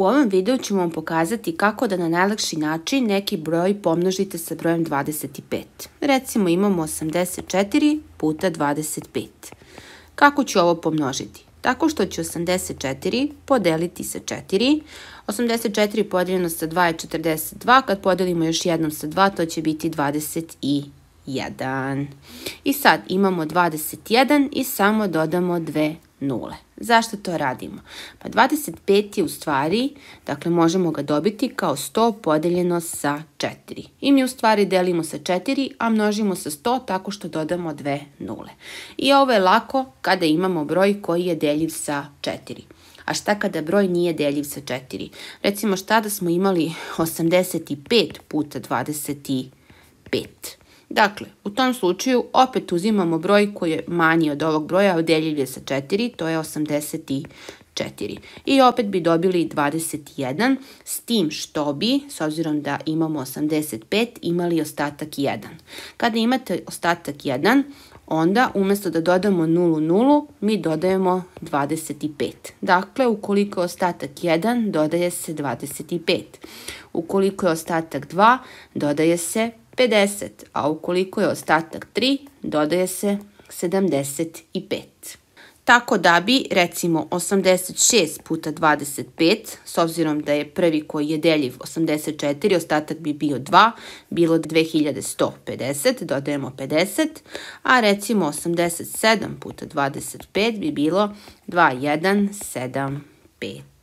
U ovom videu ćemo vam pokazati kako da na najlakši način neki broj pomnožite sa brojem 25. Recimo imamo 84 puta 25. Kako ću ovo pomnožiti? Tako što ću 84 podeliti sa 4. 84 podeljeno sa 2 je 42. Kad podelimo još jednom sa 2, to će biti 21. I sad imamo 21 i samo dodamo 2 nule. Zašto to radimo? Pa 25 je u stvari, dakle možemo ga dobiti kao 100 podeljeno sa 4. I mi u stvari delimo sa 4, a množimo sa 100 tako što dodamo 2 nule. I ovo je lako kada imamo broj koji je deljiv sa 4. A šta kada broj nije deljiv sa 4? Recimo šta da smo imali 85 puta 25. Dakle, u tom slučaju opet uzimamo broj koji je manji od ovog broja, a deljiv je sa 4, to je 84. I opet bi dobili 21, s tim što bi, s obzirom da imamo 85, imali ostatak 1. Kada imate ostatak 1, onda umjesto da dodamo 0, mi dodajemo 25. Dakle, ukoliko je ostatak 1, dodaje se 25. Ukoliko je ostatak 2, dodaje se 50, a ukoliko je ostatak 3, dodaje se 75. Tako da bi, recimo, 86 puta 25, s obzirom da je prvi koji je deljiv 84, ostatak bi bio 2, bilo 2150, dodajemo 50, a recimo 87 puta 25 bi bilo 2175.